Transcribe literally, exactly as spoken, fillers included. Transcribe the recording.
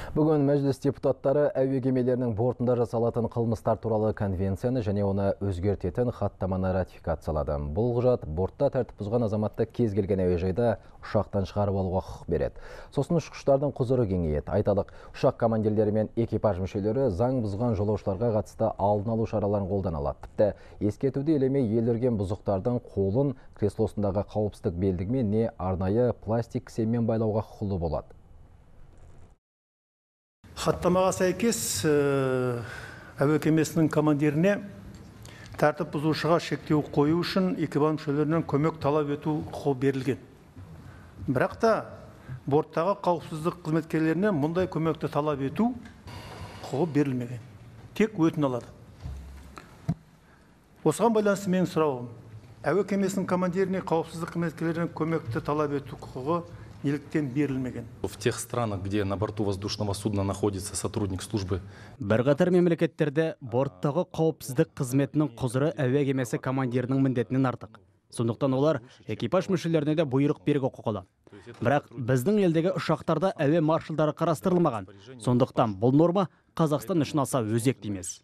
Бүгін мәжіліс депутаттары әуе кемелерінің бортында жасалатын қылмыстар туралы конвенцияны және оны өзгертетін хаттаманы ратификациялады. Бұл құжат бортта тәртіп бұзған азаматты кез келген әуежайда ұшақтан шығарып алуға құқық береді. Сосын ұшқыштардың құзыры кеңейеді. Айталық, ұшақ командирлері мен экипаж мүшелері заң бұзған жолаушыларға қатысты алдын алу шараларын қолдана алады. Тіпті ескертуді елемей елірген бұзықтардың қолын креслосындағы қауіпсіздік белдігімен не арнайы пластик кісенмен байлауға құқылы болады. Хаттамаға сәйкес әуе кемесінің командиріне тәртіп бұзушыға шектеу қою үшін экипаж мүшелерінен көмек талап ету құқығы берілген. Бірақ та борттағы қауіпсіздік қызметкерлеріне мұндай көмекті талап ету құқығы берілмеген. Тек өтін алады. Осыған байланысты менің сұрауым, әуе кемесінің командиріне қауіпсіздік қызметкерлерінен көмекті талап ету құқығы неліктен берілмеген? В тех странах, где на борту воздушного судна находится сотрудник службы. Бірқатар мемлекеттерде борттағы қауіпсіздік қызметінің құзыры әуе кемесі командирінің міндетінен артық. Сондықтан олар экипаж мүшелеріне де бұйрық беруге құқылы. Бірақ біздің елдегі ұшақтарда әуе маршалдары қарастырылмаған. Сондықтан бұл норма Қазақстан үшін аса өзекті емес.